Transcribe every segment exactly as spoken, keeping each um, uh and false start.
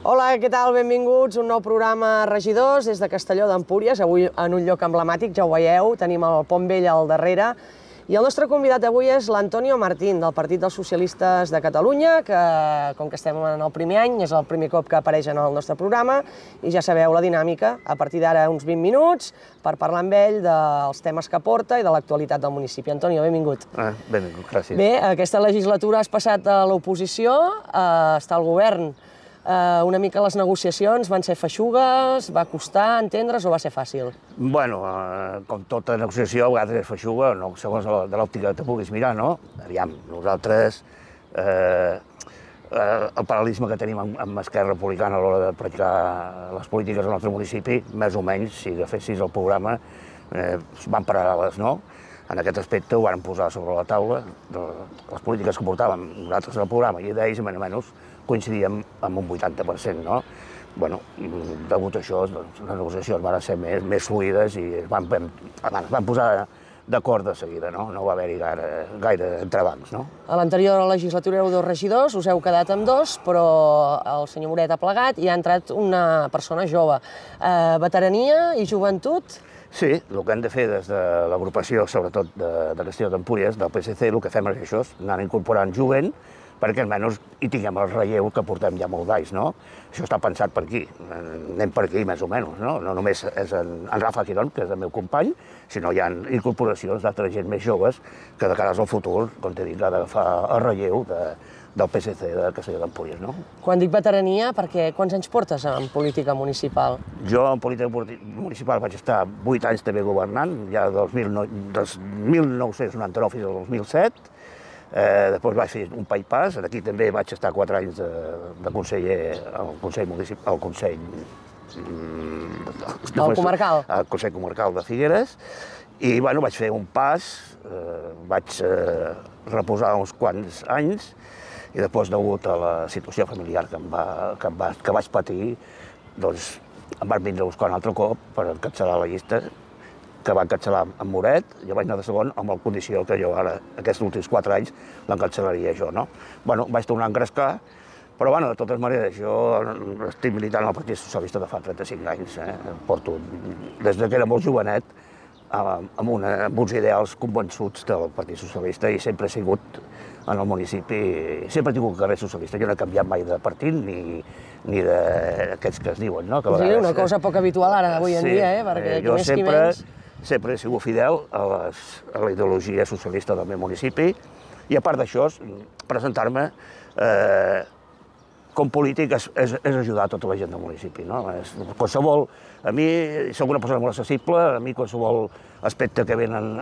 Hola, què tal? Benvinguts a un nou programa Regidors des de Castelló d'Empúries, avui en un lloc emblemàtic, ja ho veieu, tenim el Pont Vell al darrere. I el nostre convidat avui és l'Antonio Martín, del Partit dels Socialistes de Catalunya, que, com que estem en el primer any, és el primer cop que apareix en el nostre programa, i ja sabeu la dinàmica, a partir d'ara uns vint minuts, per parlar amb ell dels temes que porta i de l'actualitat del municipi. Antonio, benvingut. Ah, benvingut, gràcies. Bé, aquesta legislatura has passat a l'oposició, eh, està al govern. Uh, una mica les negociacions van ser feixugues, va costar entendre's o va ser fàcil? Bueno, eh, com tota negociació, a vegades és feixuga, no, segons la, de l'òptica que te puguis mirar, no? Aviam, nosaltres, eh, eh, el paral·lelisme que tenim amb, amb Esquerra Republicana a l'hora de practicar les polítiques al nostre municipi, més o menys, si agafessis el programa, eh, van paral·leles, no? En aquest aspecte ho van posar sobre la taula, de les polítiques que portàvem nosaltres al programa, i d'ells, menys o menys, coincidíem amb un vuitanta per cent, no? Bueno, degut a això, doncs, les negociacions van ser més, més fluides i es van, van, van posar d'acord de seguida, no? No va haver-hi gaire, gaire entrebancs, no? A l'anterior legislatura éreu dos regidors, us heu quedat amb dos, però el senyor Moret ha plegat i ha entrat una persona jove. Eh, veterania i joventut? Sí, el que hem de fer des de l'agrupació, sobretot de, de Castelló d'Empúries, del P S C, el que fem és això, anar incorporant jovent, perquè almenys hi tinguem el relleu que portem ja molt d'anys, no? Això està pensat per aquí, anem per aquí més o menys, no? No només és en, en Rafa Quirón, que és el meu company, sinó hi ha incorporacions d'altra gent més joves que de cara al futur, com t'he dit, ha d'agafar el relleu de, del P S C de Castelló d'Empúries, no? Quan dic veterania, perquè quants anys portes en política municipal? Jo en política municipal vaig estar vuit anys també governant, ja dels mil nou-cents noranta-nou fins al dos mil set, Eh, després vaig fer un bypass, aquí també vaig estar quatre anys de, de conseller al Consell Municipal, al Consell... Al comarcal? Al Consell Comarcal de Figueres, i bueno, vaig fer un pas, eh, vaig eh, reposar uns quants anys, i després, degut a la situació familiar que, em va, que, em va, que vaig patir, doncs em van vindre a buscar un altre cop per encapçalar la llista, que va encapçalar amb Moret, jo vaig anar de segon amb la condició que jo ara, aquests últims quatre anys, l'encapçalaria jo, no? Bueno, vaig tornar a engrescar, però bueno, de totes maneres, jo estic militant al Partit Socialista de fa trenta-cinc anys, eh? Porto, des que era molt jovenet, amb, una, amb uns ideals convençuts del Partit Socialista i sempre he sigut en el municipi, sempre he tingut carrer socialista, jo no he canviat mai de partit ni, ni d'aquests que es diuen, no? Que sí, vegades, una cosa poc habitual ara, avui en sí, dia, eh? Perquè jo qui més sempre, qui menys... sempre he sigut fidel a, les, a la ideologia socialista del meu municipi i a part d'això, presentar-me eh, com polític és, és, és ajudar tota la gent del municipi, no? És, qualsevol, a mi soc una persona molt accessible, a mi qualsevol aspecte que venen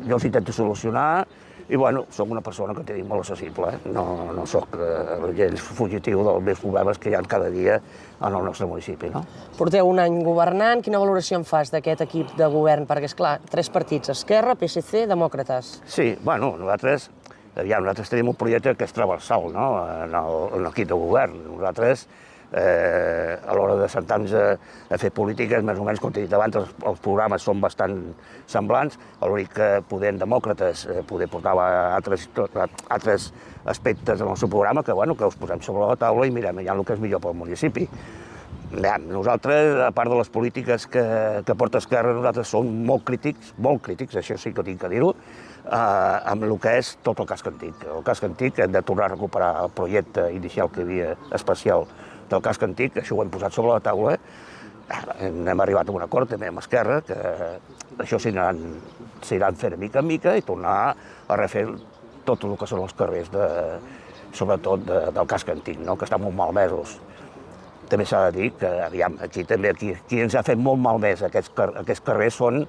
jo els intento solucionar i bueno, soc una persona que t'he dit molt accessible, eh? no, no soc eh, gens fugitiu dels meus problemes que hi ha cada dia en el nostre municipi, no? Porteu un any governant, quina valoració en fas d'aquest equip de govern? Perquè, esclar, tres partits, Esquerra, P S C, Demòcrates. Sí, bueno, nosaltres, aviam, nosaltres tenim un projecte que és transversal, no?, en l'equip de govern. Nosaltres, eh, a l'hora de sentar-nos a, a fer polítiques, més o menys, com t'he dit abans, els, els programes són bastant semblants, l'únic que poder en Demòcrates eh, poder portar altres, altres aspectes en el seu programa que, bueno, que els posem sobre la taula i mirem ja el que és millor pel municipi. Ja, nosaltres, a part de les polítiques que, que porta Esquerra, nosaltres som molt crítics, molt crítics, això sí que tinc que dir-ho, eh, amb el que és tot el casc antic. El casc antic hem de tornar a recuperar el projecte inicial que hi havia especial del casc antic, això ho hem posat sobre la taula, hem arribat a un acord també amb Esquerra, que això s'aniran fent mica en mica i tornar a refer tot el que són els carrers, de, sobretot de, del casc antic, no?, que estan molt malmesos. També s'ha de dir que, aviam, aquí també, aquí, qui ens ha fet molt malmès aquests, aquests carrers són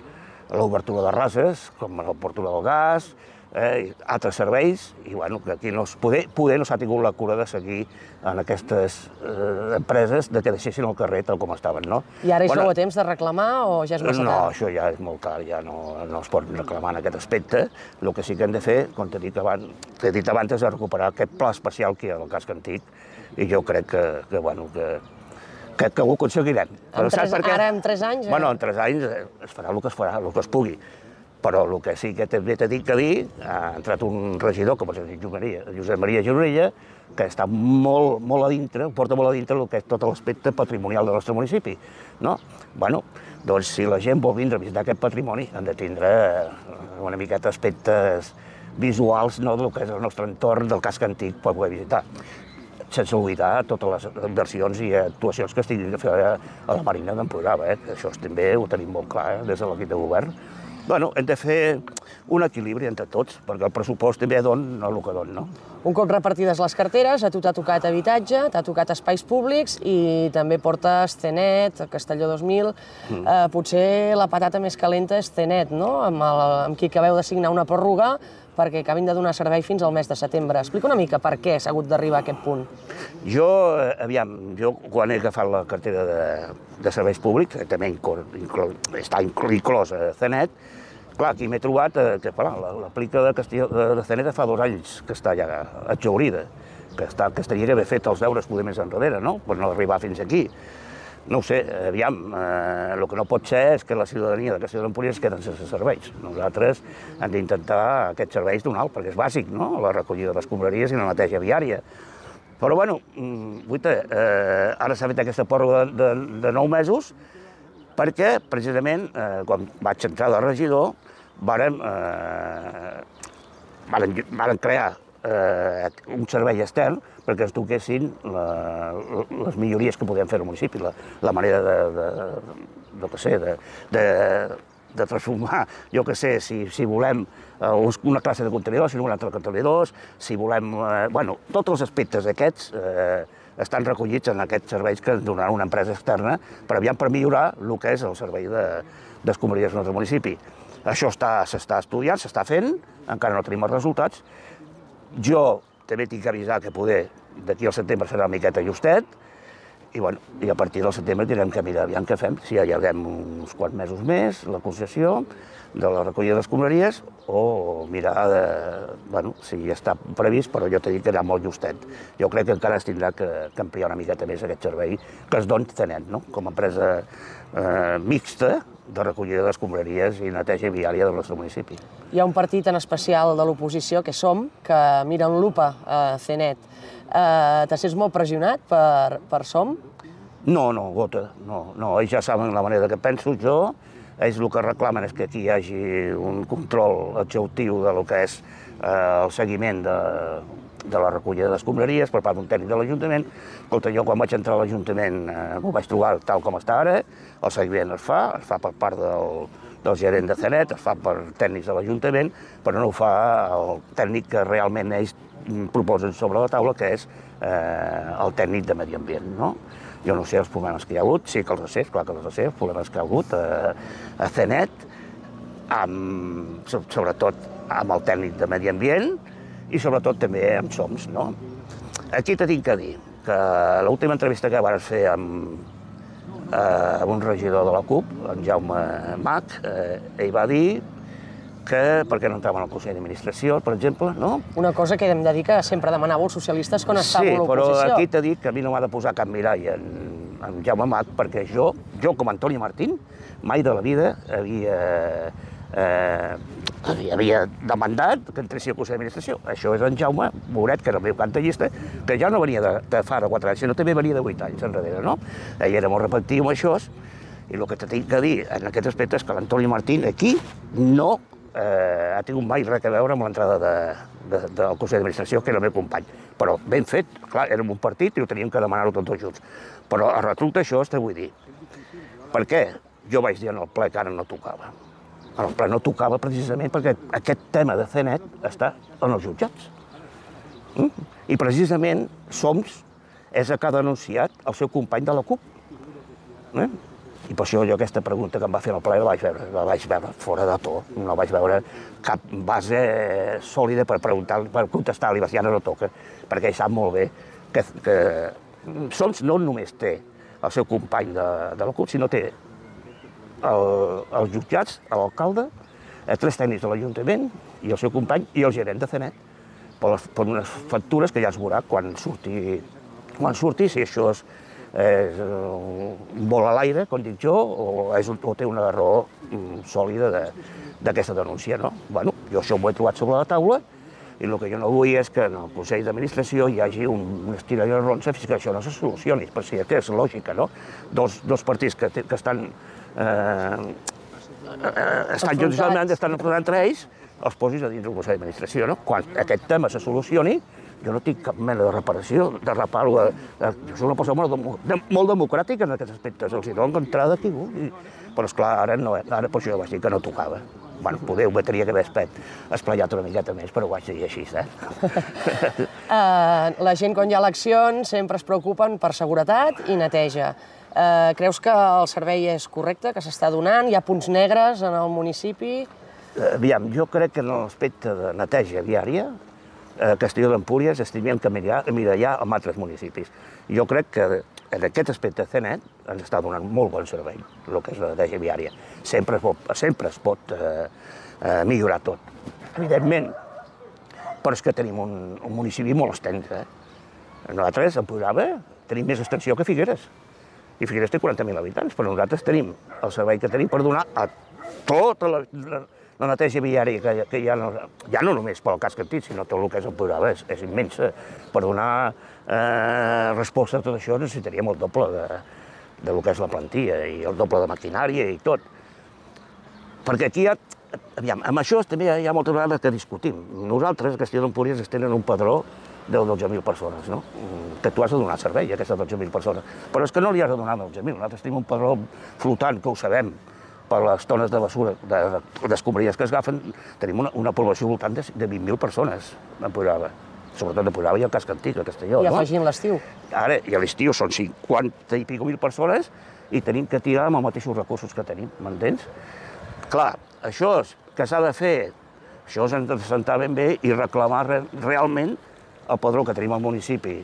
l'obertura de rases, com l'obertura del gas, eh, altres serveis, i bueno, que aquí no es, poder, poder no s'ha tingut la cura de seguir en aquestes eh, empreses de que deixessin el carrer tal com estaven, no? I ara hi bueno, sou a temps de reclamar o ja és massa tard? No, això ja és molt tard, ja no, no es pot reclamar en aquest aspecte. El que sí que hem de fer, com t'he dit abans, t'he dit abans, és recuperar aquest pla especial que hi ha al casc antic, i jo crec que, que bueno, que, que, que ho aconseguirem. En tres, ara en tres anys? Eh? Bueno, en tres anys es farà el que es farà, el que es pugui. Però el que sí que també t'he dit que dir, ha entrat un regidor, com és Josep Maria Gironella, que està molt, molt a dintre, porta molt a dintre el que és tot l'aspecte patrimonial del nostre municipi. No? Bueno, doncs si la gent vol vindre a visitar aquest patrimoni, han de tindre una miqueta aspectes visuals, no, del que és el nostre entorn, del casc antic, per poder visitar. Sense oblidar totes les inversions i actuacions que estiguin a fer a la Marina d'Empordà. Eh? Això també ho tenim molt clar eh? Des de l'equip de govern. Bueno, hem de fer un equilibri entre tots, perquè el pressupost també dona el que dona, no? Un cop repartides les carteres, a tu t'ha tocat habitatge, t'ha tocat espais públics i també portes C net, Castelló dos mil. Mm. Eh, potser la patata més calenta és C net, no? Amb, el, amb qui acabeu de signar una pròrroga perquè acabin de donar servei fins al mes de setembre. Explica una mica per què s'ha hagut d'arribar a aquest punt. Jo, aviam, jo quan he agafat la cartera de, de serveis públics, també inclo, inclo, està inclòs a C net, clar, aquí m'he trobat que l'aplica de, de, de C net fa dos anys que està ja exhaurida, que, està, que estaria d'haver fet els deures poder més enrere, no? Per no arribar fins aquí. No ho sé, aviam, eh, el que no pot ser és que la ciutadania de Castelló d'Empúries es queden sense serveis. Nosaltres hem d'intentar aquests serveis donar, perquè és bàsic, no?, la recollida de les escombraries i la neteja viària. Però, bueno, guaita, eh, ara s'ha fet aquesta pròrroga de, de, de nou mesos perquè, precisament, eh, quan vaig entrar de regidor, vàrem, eh, vàrem, vàrem crear eh, un servei extern perquè es toquessin la, les millories que podem fer al municipi, la, la manera de, de, de, de, sé, de, de, de transformar, jo que sé, si, si volem eh, una classe de contenidors, si no un altre de contenidors, si volem, eh, bueno, tots els aspectes aquests eh, estan recollits en aquests serveis que ens donarà una empresa externa per aviam per millorar el que és el servei d'escombraries del nostre municipi. Això s'està estudiant, s'està fent, encara no tenim els resultats. Jo també tinc que avisar que poder d'aquí al setembre serà una miqueta justet i, bueno, i a partir del setembre tindrem que mirar aviam què fem, si allarguem uns quants mesos més la concessió de la recollida de les escombraries o mirar de, bueno, si ja està previst, però jo t'he dit que era molt justet. Jo crec que encara es tindrà que, que ampliar una miqueta més aquest servei que es doni C net, no?, com a empresa eh, mixta de recollida d'escombraries i neteja viària del nostre municipi. Hi ha un partit en especial de l'oposició, que Som, que mira en lupa a C net. Eh, T'has sents molt pressionat per, per Som? No, no, gota, no, no. Ells ja saben la manera que penso jo. Ells el que reclamen és que aquí hi hagi un control exhaustiu del que és eh, el seguiment de, de la recollida d'escombraries per part d'un tècnic de l'Ajuntament. Escolta, jo quan vaig entrar a l'Ajuntament eh, m'ho vaig trobar tal com està ara, el seguiment es fa, es fa per part del, del gerent de C net, es fa per tècnics de l'Ajuntament, però no ho fa el tècnic que realment ells proposen sobre la taula, que és eh, el tècnic de Medi Ambient, no? Jo no sé els problemes que hi ha hagut, sí que els sé, clar que els sé, els problemes que hi ha hagut a, a C net, amb, sobretot amb el tècnic de Medi Ambient i sobretot també amb Soms, no? Aquí t'he tinc que dir que l'última entrevista que vaig fer amb, eh, amb un regidor de la CUP, en Jaume Mach, eh, ell va dir que per què no entraven al Consell d'Administració, per exemple, no? Una cosa que hem de dir que sempre demanàveu els socialistes quan estàveu a l'oposició. Sí, però aquí t'he dit que a mi no m'ha de posar cap mirall en, en Jaume Mach, perquè jo, jo com a Antoni Martín, mai de la vida havia, eh, havia, havia demandat que entressi al Consell d'Administració. Això és en Jaume Moret, que era el meu cap de llista, que ja no venia de, de fa de quatre anys, sinó també venia de vuit anys enrere, no? Ell era molt repetitiu amb això, i el que t'he de dir en aquest aspecte és que l'Antoni Martín aquí no Eh, ha tingut mai res a veure amb l'entrada de, de, del Consell d'Administració, que era el meu company. Però ben fet, clar, érem un partit i ho teníem que demanar-ho tots dos junts. Però a retruc d'això t'ho vull dir. Per què? Jo vaig dir en el ple que ara no tocava. En el ple no tocava precisament perquè aquest tema de C net està en els jutjats. Mm? I precisament Soms és el que ha denunciat el seu company de la CUP. Eh? I per això jo aquesta pregunta que em va fer al ple la vaig veure, la vaig veure fora de to, no vaig veure cap base sòlida per preguntar, per contestar-li, ja no toca, perquè ell sap molt bé que, que Soms no només té el seu company de, de la CUP, sinó té el, els jutjats, l'alcalde, tres tècnics de l'Ajuntament i el seu company i el gerent de C net, per, les, per unes factures que ja es veurà quan surti, quan surti si això és és un vol a l'aire, com dic jo, o, és, o té una raó sòlida d'aquesta denúncia, no? Bueno, jo això m'ho he trobat sobre la taula i el que jo no vull és que en el Consell d'Administració hi hagi un estirall de ronça fins que això no se solucioni, per si que és lògica, no? Dos, dos partits que, que estan, eh, estan judicialment, estan enfrontant entre ells, els posis a dins del Consell d'Administració, no? Quan aquest tema se solucioni, jo no tinc cap mena de reparació, de reparo. Jo soc una persona molt, molt democràtica en aquests aspectes, els hi dono entrada aquí, però esclar, ara, no, ara per això vaig dir que no tocava. Bueno, poder ho tenia que haver esplayat una miqueta més, però ho vaig dir així, eh? uh, la gent, quan hi ha eleccions, sempre es preocupen per seguretat i neteja. Uh, creus que el servei és correcte, que s'està donant? Hi ha punts negres en el municipi? Uh, aviam, jo crec que en l'aspecte de neteja viària, a Castelló d'Empúries estimem que mirallar amb altres municipis. Jo crec que en aquest aspecte C N E T ens està donant molt bon servei, el que és la neteja viària. Sempre es pot, sempre es pot eh, eh, millorar tot. Evidentment, però és que tenim un, un municipi molt extens. Eh? Nosaltres, a Empuriava, tenim més extensió que Figueres. I Figueres té quaranta mil habitants, però nosaltres tenim el servei que tenim per donar a tota la, la, la neteja viària que, que hi ha, ja no només pel casc antic, sinó tot el que és Empuriava, és, és immensa. Per donar eh, resposta a tot això necessitaríem el doble de, de lo que és la plantilla i el doble de maquinària i tot. Perquè aquí hi ha, aviam, amb això també hi ha moltes vegades que discutim. Nosaltres, a Castelló d'Empúries, es tenen un padró de dotze mil persones, no? Que tu has de donar servei a aquestes dotze mil persones. Però és que no li has de donar dotze mil, nosaltres tenim un padró flotant, que ho sabem, per les tones de basura, d'escombraries que es agafen, tenim una, una població voltant de, de vint mil persones a Empuriava, sobretot a Empuriava i al casc antic, a Castelló. I afegint l'estiu. Ara, i a l'estiu són cinquanta i pico mil persones i tenim que tirar amb els mateixos recursos que tenim, m'entens? Clar, això que s'ha de fer, això s'ha de sentar ben bé i reclamar re, realment el padró que tenim al municipi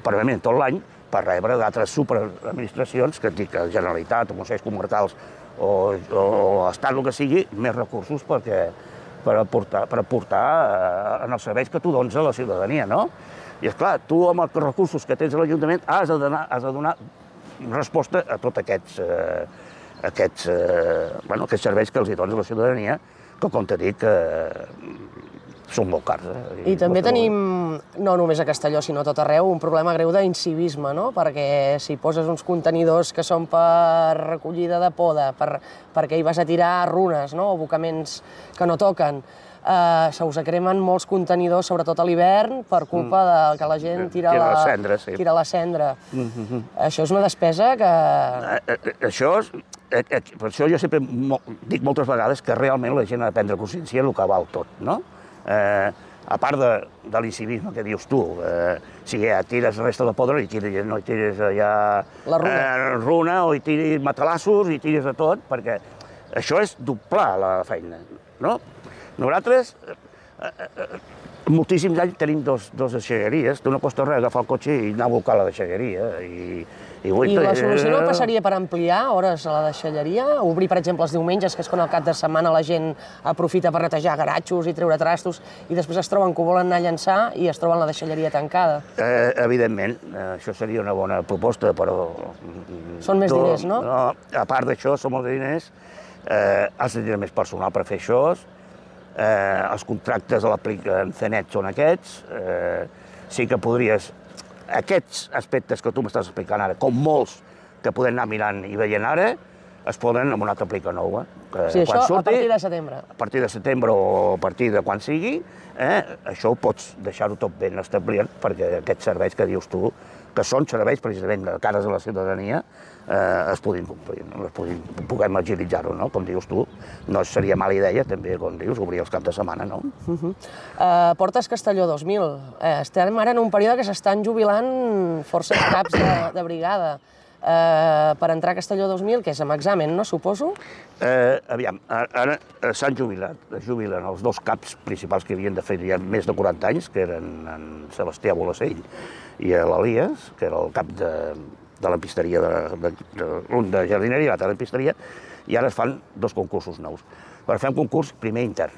permanentment tot l'any per rebre d'altres superadministracions, que dic Generalitat o Consells Comarcals o, o, o Estat, el que sigui, més recursos perquè, per aportar, per aportar eh, en els serveis que tu dones a la ciutadania, no? I esclar, tu amb els recursos que tens a l'Ajuntament has de donar, has de donar resposta a tots aquests, eh, aquests, eh, bueno, aquests serveis que els hi dones a la ciutadania, que com t'he dit, eh, són molt cars. Eh? I, I també tenim, no només a Castelló, sinó a tot arreu, un problema greu d'incivisme, no? Perquè si poses uns contenidors que són per recollida de poda, per, perquè hi vas a tirar runes, no? O abocaments que no toquen, eh, se us cremen molts contenidors, sobretot a l'hivern, per culpa de que la gent tira, tira la, la cendra. Sí. Tira la cendra. Mm-hmm. Això és una despesa que... Eh, eh, això és... Eh, eh, per això jo sempre mo dic moltes vegades que realment la gent ha de prendre consciència del que val tot, no? Eh, a part de, de l'incivisme que dius tu, eh, si ja tires resta de podre i tires, no hi tires ja la runa. Eh, runa o hi tires matalassos i tires de tot, perquè això és doblar la feina, no? Nosaltres, eh, eh, moltíssims anys tenim dos, dos deixalleries, tu no costa res agafar el cotxe i anar a buscar la deixalleria. I, i, I la solució no passaria per ampliar hores a la deixalleria? Obrir, per exemple, els diumenges, que és quan al cap de setmana la gent aprofita per netejar garatxos i treure trastos, i després es troben que ho volen anar a llançar i es troben la deixalleria tancada? Eh, evidentment, eh, això seria una bona proposta, però... Són més tu, diners, no? no? A part d'això, són molts diners, eh, has de tenir més personal per fer això, eh, els contractes a l'apliquen C N E T són aquests, eh, sí que podries... Aquests aspectes que tu m'estàs explicant ara, com molts que podem anar mirant i veient ara, es poden amb una altra aplica nova. Que sí, això surti, a partir de setembre. A partir de setembre o a partir de quan sigui, eh, això ho pots deixar-ho tot ben establert, perquè aquests serveis que dius tu, que són serveis precisament de cares a la ciutadania, eh, es puguin complir, no? Es puguin, puguem agilitzar-ho, no? Com dius tu. No seria mala idea, també, com dius, obrir els caps de setmana, no? Uh -huh. uh, portes Castelló dos mil. Uh, estem ara en un període que s'estan jubilant forces caps de, de brigada. Uh, per entrar a Castelló dos mil, que és amb examen, no, suposo? Eh, aviam, ara s'han jubilat, es jubilen els dos caps principals que havien de fer ja més de quaranta anys, que eren en Sebastià Bolacell i l'Elias, que era el cap de, de l'empisteria, de, de, de, un de jardineria i l'altre de l'empisteria, i ara es fan dos concursos nous. Per fer un concurs primer intern.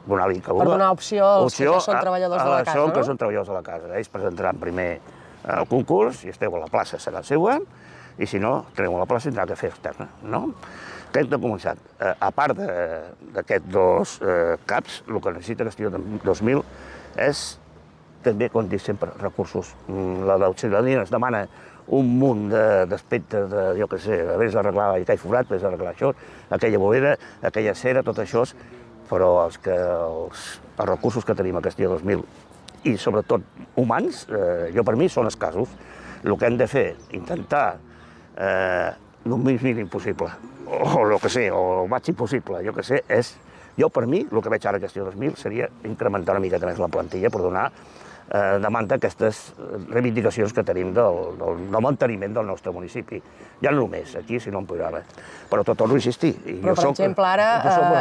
Per donar opció als que són treballadors de la casa, no? que són treballadors de la casa. Ells presentaran primer el concurs, si esteu a la plaça serà seua, i si no, teniu a la plaça tindrà que fer externa, no? Què hem de començar? A part d'aquests dos caps, el que necessita Castelló dos mil és també, com dic sempre, recursos. La ciutadania ens demana un munt d'aspectes, de, jo què sé, vés a arreglar aquell forat, vés a arreglar això, aquella bolera, aquella cera, tot això, però els, que, els, els recursos que tenim a Castelló dos mil, i sobretot humans, eh, jo per mi són escassos. El que hem de fer, intentar eh, el més mínim possible, o el que sé, o el màxim possible, jo què sé, és, jo per mi, el que veig ara a Castelló dos mil seria incrementar una miqueta més la plantilla per donar Eh, demanda aquestes reivindicacions que tenim del, del, del manteniment del nostre municipi. Ja no només aquí, sinó en Puigdàlber. Però tot torno a insistir. I Però, jo per soc, exemple, ara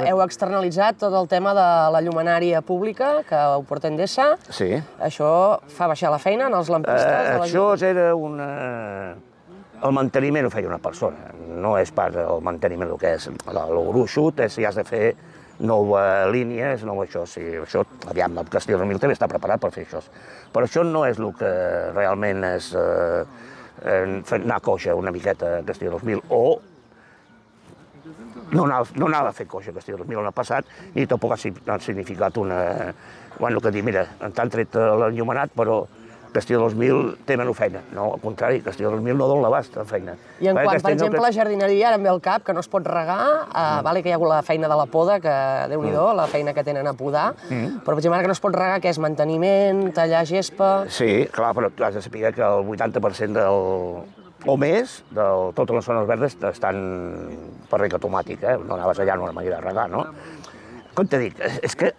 eh, heu externalitzat tot el tema de la llumenària pública, que ho porta Endesa. Sí. Això fa baixar la feina en els lampistes? Eh, de la això era una... El manteniment ho feia una persona, no és pas el manteniment el que és. El gruixut és si has de fer nova línies, nou això, sí, això, aviam, el Castelló dos mil també està preparat per fer això. Però això no és el que realment és eh, anar coixa una miqueta a Castelló dos mil, o no anava, no anava a fer coixa a Castelló dos mil l'any passat, ni tampoc ha significat una... Bueno, que dir, mira, t'han tret l'enllumenat, però Castelló dos mil té menys feina. No, al contrari, Castelló dos mil no dona l'abast de feina. I en quant, per exemple, a la jardineria, ara em ve al cap, que no es pot regar, vale que hi ha la feina de la poda, que Déu-n'hi-do, la feina que tenen a podar, però, per exemple, ara que no es pot regar, què és? Manteniment, tallar gespa... Sí, clar, però tu has de saber que el vuitanta per cent del... o més, de totes les zones verdes estan per reg automàtic, eh? No anaves allà en una manera de regar, no? Com t'he dit, és que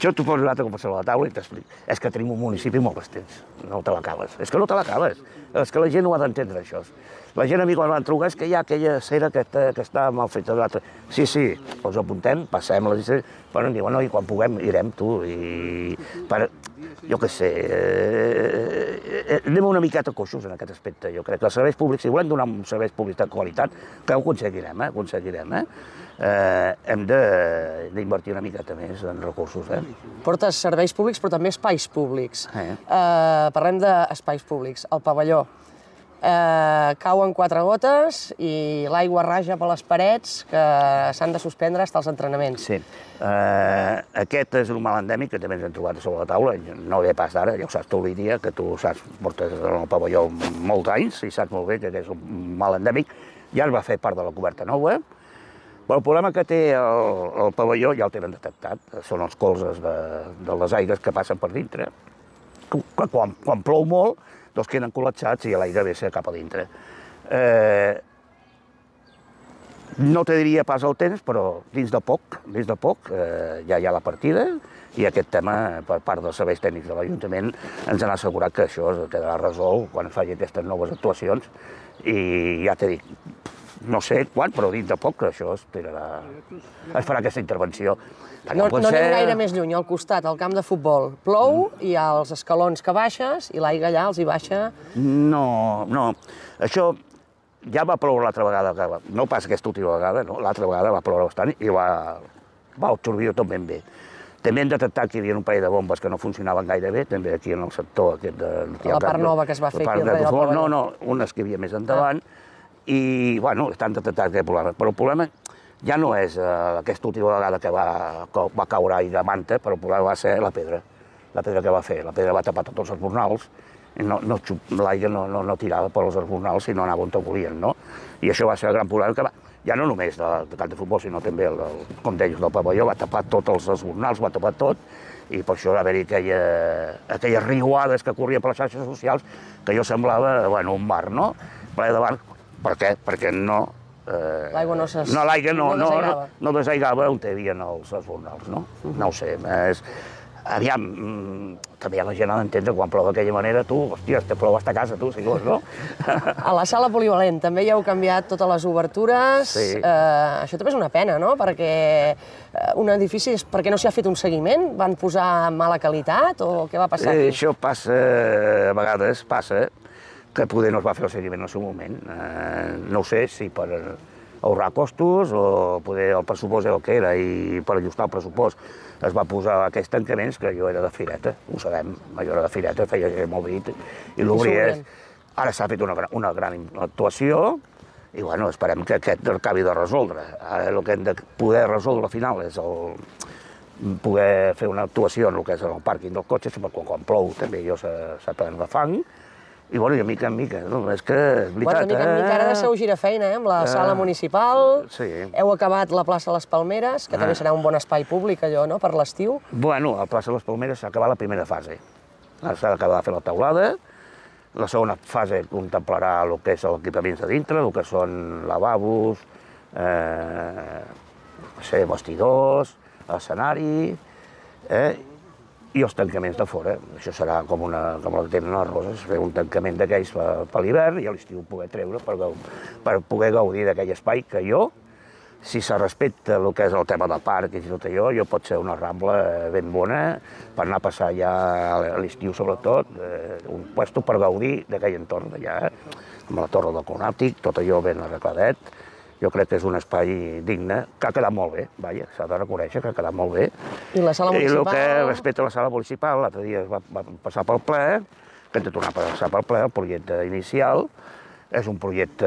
jo t'ho poso una altra cosa a la taula i t'explico. És que tenim un municipi molt extens, no te l'acabes. És que no te l'acabes. És que la gent no ha d'entendre això. La gent a mi quan van trucar és que hi ha aquella cera que, que està mal feta. Sí, sí, els apuntem, passem les llistes, però em diuen, no, i quan puguem irem, tu, i... Per, jo què sé, eh, anem una miqueta coixos en aquest aspecte. Jo crec que els serveis públics, si volem donar un serveis públics de qualitat, que ho aconseguirem, eh, aconseguirem, eh? Eh, hem d'invertir una miqueta més en recursos. Eh? Portes serveis públics, però també espais públics. Eh. Eh, parlem d'espais públics. El pavelló. Eh, cauen quatre gotes i l'aigua raja per les parets que s'han de suspendre fins als entrenaments. Sí. Eh, aquest és un mal endèmic que també ens hem trobat sobre la taula. No ve pas d'ara, ja ho saps tu, Lídia, que tu saps, portes en el pavelló molts anys i saps molt bé que és un mal endèmic. Ja es va fer part de la coberta nova. Però el problema que té el, el pavelló ja el tenen detectat, són els colzes de, de les aigües que passen per dintre, que quan, quan plou molt, doncs queden col·lapsats i l'aigua vessa cap a dintre. Eh, no te diria pas el temps, però dins de poc, dins de poc eh, ja hi ha la partida i aquest tema, per part dels serveis tècnics de l'Ajuntament, ens han assegurat que això quedarà resolt quan faci aquestes noves actuacions i ja t'he dit, no sé quan, però dins de poc això es, tirarà, es farà aquesta intervenció. No, no anem gaire més lluny, al costat, al camp de futbol. Plou, mm. hi ha els escalons que baixes i l'aigua allà els hi baixa... No, no. Això ja va ploure l'altra vegada, no pas aquesta última vegada, no? L'altra vegada va ploure bastant i va, va absorbir tot ben bé. També hem detectat que hi havia un parell de bombes que no funcionaven gaire bé, també aquí en el sector aquest de... La part nova que es va fer aquí darrere del pavelló. No, no, unes que hi havia més endavant, i, bueno, estan detectats aquest problema. Però el problema ja no és eh, aquesta última vegada que va, que va caure aigua de manta, però el problema va ser la pedra, la pedra que va fer. La pedra va tapar tots els esbornals, no, no, l'aigua no, no, no tirava per els esbornals, sinó anava on volien, no? I això va ser el gran problema que va, ja no només de, de camp de futbol, sinó també, el, el, com deies, del pavelló, va tapar tots els esbornals, va tapar tot, i per això va haver-hi aquella, aquelles riuades que corrien per les xarxes socials, que jo semblava, bueno, un mar, no? Ple de bar. Per què? Perquè no... Eh, l'aigua no, no, l'aigua no, no, no, no desaigava on hi havia els esbornals, no? Uh-huh. No ho sé, és... Aviam, també la gent ha d'entendre quan plou d'aquella manera, tu, hòstia, te plou hasta casa, tu, si vols, no? A la sala polivalent també hi heu canviat totes les obertures. Sí. Eh, això també és una pena, no? Perquè un edifici, per què no s'hi ha fet un seguiment? Van posar mala qualitat o què va passar aquí? Eh, això passa, a vegades passa, que poder no es va fer el seguiment en el seu moment. Eh, no ho sé si per ahorrar costos o poder el pressupost era el que era i per ajustar el pressupost es va posar aquests tancaments, que jo era de fireta, ho sabem, jo era de fireta, feia molt dit, i l'obries. Ara s'ha fet una, una gran actuació, i bueno, esperem que aquest acabi de resoldre. Ara el que hem de poder resoldre al final és el, poder fer una actuació en el que és el pàrquing dels cotxes, perquè quan plou també allò s'ha plen de fang, i bueno, de mica en mica, no? És que és veritat, eh? De mica en mica ara deixeu girar feina, eh? Amb la sala municipal, heu acabat la plaça Les Palmeres, que també serà un bon espai públic, allò, no?, per l'estiu. Bueno, a la plaça Les Palmeres s'ha acabat la primera fase. Ara s'ha d'acabar de fer la taulada. La segona fase contemplarà el que és l'equipament de dintre, el que són lavabos, eh, no sé, vestidors, escenari, eh, i els tancaments de fora. Això serà com, una, com el que tenen les roses, fer un tancament d'aquells per, per l'hivern i a l'estiu poder treure per, per poder gaudir d'aquell espai que jo, si se respecta el que és el tema del parc i tot allò, jo pot ser una rambla ben bona per anar a passar ja a l'estiu sobretot, eh, un puesto per gaudir d'aquell entorn d'allà, amb la torre del Conàptic, tot allò ben arregladet. Jo crec que és un espai digne, que ha quedat molt bé, vaja, s'ha de reconèixer que ha quedat molt bé. I la sala municipal? I el que respecte a la sala municipal, l'altre dia va, va passar pel ple, que hem de tornar a passar pel ple, el projecte inicial. És un projecte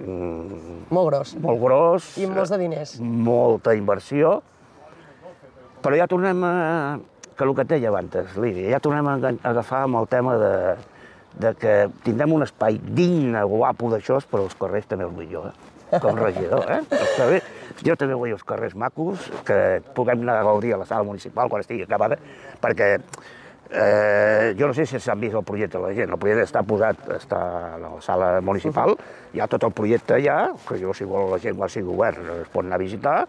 mm, molt gros. Molt gros. I amb molts de diners. Molta inversió. Però ja tornem a... que el que et deia abans, Lídia, ja tornem a agafar amb el tema de, de que tindrem un espai digne, guapo d'això, però els carrers també els vull jo, eh? Com regidor, eh? Carrers, jo també vull els carrers macos, que puguem anar a gaudir a la sala municipal quan estigui acabada, perquè eh, jo no sé si s'han vist el projecte de la gent, el projecte està posat, està a la sala municipal, hi ha tot el projecte allà, que jo si vol la gent quan sigui obert es pot anar a visitar,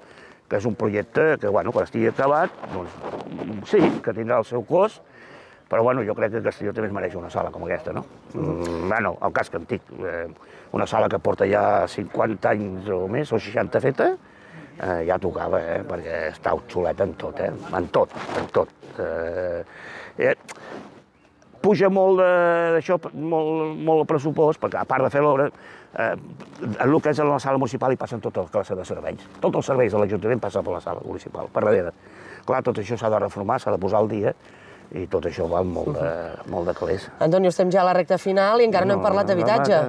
que és un projecte que, bueno, quan estigui acabat, doncs sí, que tindrà el seu cost, però bueno, jo crec que Castelló també es mereix una sala com aquesta, no? Mm, bueno, el casc antic, eh, una sala que porta ja cinquanta anys o més, o seixanta feta, eh, ja tocava, eh, perquè està obsoleta en tot, eh? En tot, en tot. Eh, eh, puja molt d'això, molt, molt el pressupost, perquè a part de fer l'obra, eh, en el que és a la sala municipal hi passen tota la classe de serveis. Tots els serveis de l'Ajuntament passen per la sala municipal, per darrere. Clar, tot això s'ha de reformar, s'ha de posar al dia, i tot això va molt de, molt de calés. Antonio, estem ja a la recta final i encara no, no hem parlat d'habitatge.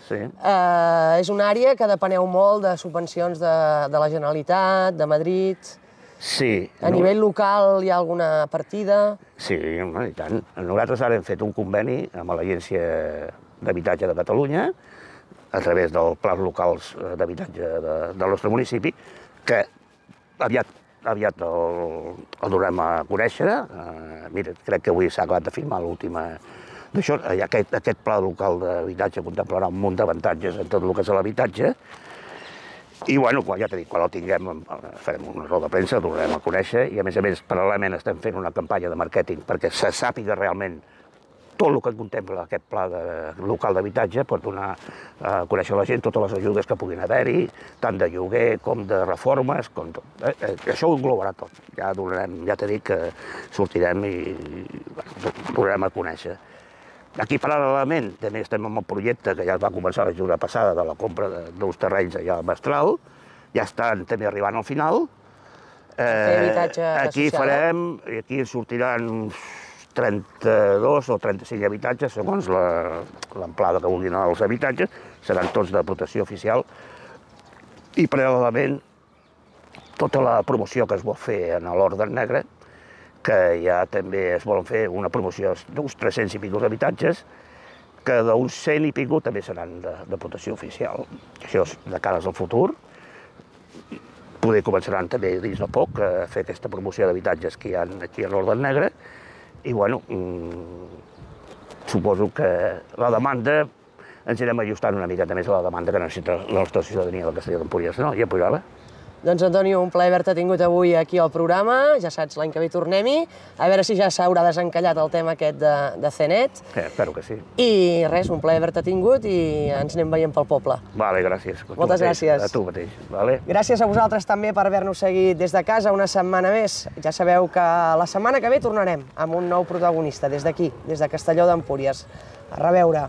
Sí. Uh, és una àrea que depeneu molt de subvencions de, de la Generalitat, de Madrid. Sí. A no... nivell local hi ha alguna partida? Sí, i tant. Nosaltres ara hem fet un conveni amb l'Agència d'Habitatge de Catalunya, a través dels plans locals d'habitatge de, del nostre municipi, que aviat aviat el, el durem a conèixer. Uh, mira, crec que avui s'ha acabat de firmar l'última d'això. Aquest, aquest pla local d'habitatge contemplarà un munt d'avantatges en tot el que és l'habitatge. I, bueno, quan, ja t'he dit, quan el tinguem, farem una roda de premsa, el durarem a conèixer, i, a més a més, paral·lelament estem fent una campanya de màrqueting perquè se sàpiga realment tot el que contempla aquest pla de, local d'habitatge, per donar a conèixer a la gent totes les ajudes que puguin haver-hi, tant de lloguer com de reformes, com tot. Eh? Això ho englobarà tot. Ja, donarem, ja t'he dit que sortirem i, i bueno, donarem a conèixer. Aquí, paral·lelament, també estem amb el projecte que ja va començar la jornada passada de la compra d'uns terrenys allà al Mestral, ja estan també arribant al final. Eh, aquí farem, i aquí sortiran uns trenta-dos o trenta-cinc habitatges, segons l'amplada que vulguin els habitatges, seran tots de protecció oficial. I, paral·lelament, tota la promoció que es vol fer en l'Orde Negre, que ja també es volen fer una promoció d'uns tres-cents i pico d'habitatges, que d'uns cent i pico també seran de, de protecció oficial. Això és de cara al futur. Poder començaran també dins de poc a fer aquesta promoció d'habitatges que hi ha aquí a l'Orde Negre. I, bueno, mmm, suposo que la demanda ens anirem ajustant una miqueta més a la demanda que necessita la nostra ciutadania del Castelló d'Empúries, no? Ja pujava. Doncs, Antonio, un plaer haver-te tingut avui aquí al programa. Ja saps, l'any que ve tornem-hi. A veure si ja s'haurà desencallat el tema aquest de, de C net. Sí, espero que sí. I res, un plaer haver-te tingut i ens anem veient pel poble. Vale, gràcies. Moltes gràcies. A tu mateix. Vale. Gràcies a vosaltres també per haver-nos seguit des de casa una setmana més. Ja sabeu que la setmana que ve tornarem amb un nou protagonista des d'aquí, des de Castelló d'Empúries. A reveure.